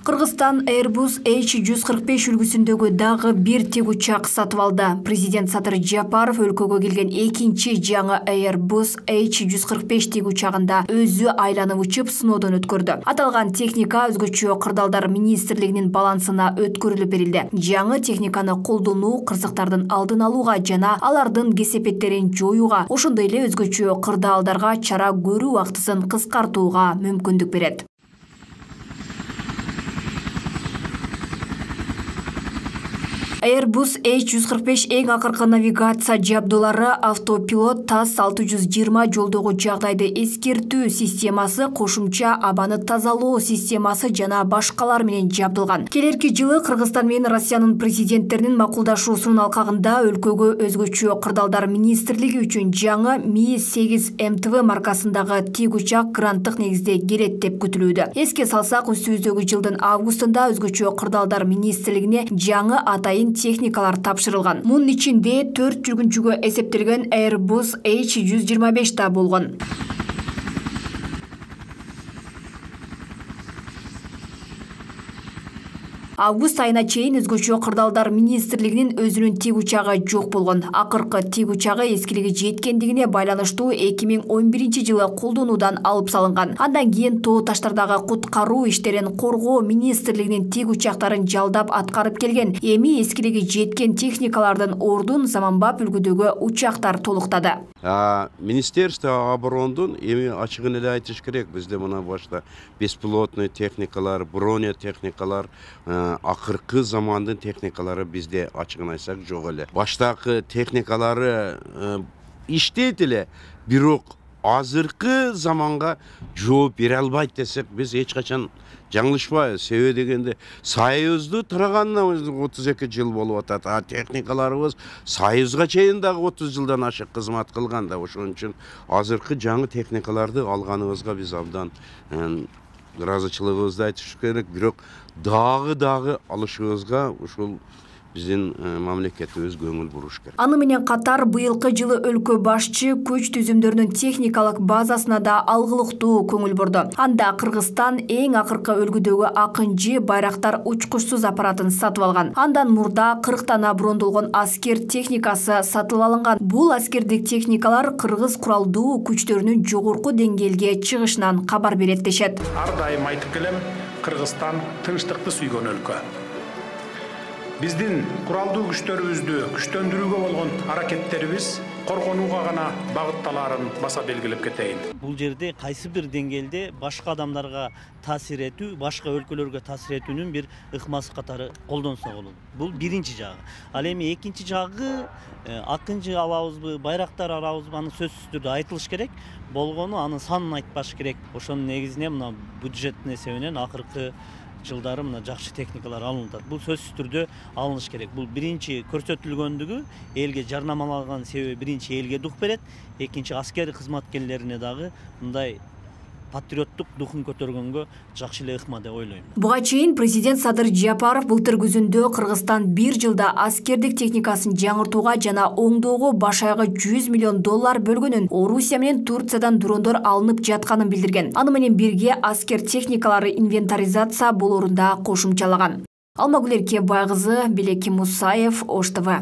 Кыргызстан Airbus H145 үлгүсүндөгү дагы бир тик учак сатып алды. Президент Садыр Жапаров өлкөгө келген экинчи жаңы Airbus H145 тик учагында өзү айланып учуп сыноодон өткөрдү. Аталган техника өзгөчө кырдаалдар министрлигинин балансына өткөрүлүп берилди. Жаңы техниканы колдонуу кырсыктардын алдын алууга жана алардын кесепеттерин жоюуга, ошондой эле өзгөчө кырдаалдарга чара көрүү убактысын кыскартууга мүмкүндүк берет. Airbus H145 эң акыркы навигация жабдуулары, автопилот, ТАСС 620 жолдогу жагдайды эскертүү системасы, кошумча абаны тазалоо системасы жана башкалар менен жабдылган. Келерки жылы Кыргызстан менен Россиянын президенттеринин макулдашуусунун алкагында өлкөгө өзгөчө кырдаалдар министрлиги үчүн жаңы Mi-8 МТВ маркасындагы тик учак гранттык негизде келет деп күтүлүүдө. Эске салсак, үстүбүздөгү жылдын августунда өзгөчө кырдаалдар министрлигине жаңы атайын техникалар тапшырылган. Мунун ичинде 4 жүргүнчүгө эсептелген Airbus H125 да болгон. Август айына чейин өзгөчө кырдаалдар министрлигинин өзүнүн тик учагы жок болгон. Акыркы тик учагы эскилиги жеткендигине байланыштуу 2011 жылы колдонуудан алып салынган. Андан кийин тоо таштардагы куткаруу иштерин коргоо министрлигинин тик учактарын жалдап аткарып келген. Эми эскилиги жеткен техникалардын ордун заманбап үлгүдөгү учактар толуктады. Министерство оборондун эми ачыгын эле айтыш керек, бизде мына башта беспилотный техникалар, бронетехникалар, акыркы замандын техникалары бизде ачыгын айтсак жок эле. Баштакы техникалары иштейт эле, бирок азыркы заманга жооп бере албайт десек, биз эч качан жаңылышпайбыз. Себеби дегенде Союзду тураганына 32 жыл болуп атат. Техникаларыбыз Союзга чейин дагы 30 жылдан ашык кызмат кылган да. Ошон үчүн азыркы жаңы техникаларды алганыбызга биз абдан ыраазычылыгыбызды айтыш керек. Бирок дагы алышыбызга ушул биздин мамлекетибиз көңүл буруш керек. Аны менен катар быйылкы жылы өлкө башчы күч түзүмдөрүнүн техникалык базасына да алгылыктуу көңүл бурду. Анда Кыргызстан эң акыркы үлгүдөгү Акынжы байрактар учкучсуз аппаратын сатып алган. Андан мурда 40 брондолгон аскер техникасы сатып алынган. Бул аскердик техникалар кыргыз куралдуу күчтөрүнүн жогорку деңгээлге чыгышынан кабар берет дешет. Ар дайым айтып келем, Кыргызстан тынчтыкты сүйгөн өлкө. Биздин куралдуу күчтөрүбүздү күчтөндүрүүгө болгон аракеттерибиз коргонууга гана багытталаарын баса белгилеп кетейин. Бул жерде кайсы бир деңгээлде башка адамдарга таасир этүү, башка өлкөлөргө таасир этүүнүн бир ыкмасы катары колдонсо болот. Бул биринчи жагы. Ал эми экинчи жагы Акынжы алабызбы, байрактар алабызбы, аны сөзсүз түрдө айтылыш керек. Болгону анын санын айтпаш керек. Ошонун негизине мына бюджеттин эсебинен акыркы жылдары мына жакшы техникалар алынып атат. Бул сөзсүз түрдө алыныш керек. Бул биринчи көрсөтүлгөндүгү элге жарнамалаган себеби биринчи элге дух берет, экинчи аскер кызматкерлерине дагы мындай патриоттук духун көтөргөнгө жакшы эле ыкма деп ойлойм. Буга чейин президент Садыр Жапаров былтыр күзүндө Кыргызстан бир жылда аскердик техникасын жаңыртууга жана оңдоого баш аягы $100 миллион бөлгөнүн, Орусия менен Турциядан дрондор алынып жатканын билдирген. Аны менен бирге аскер техникалары инвентаризация болоорун да кошумчалаган. Алмагүл Эркебай кызы, Белеки Мусаев, Ош ТВ.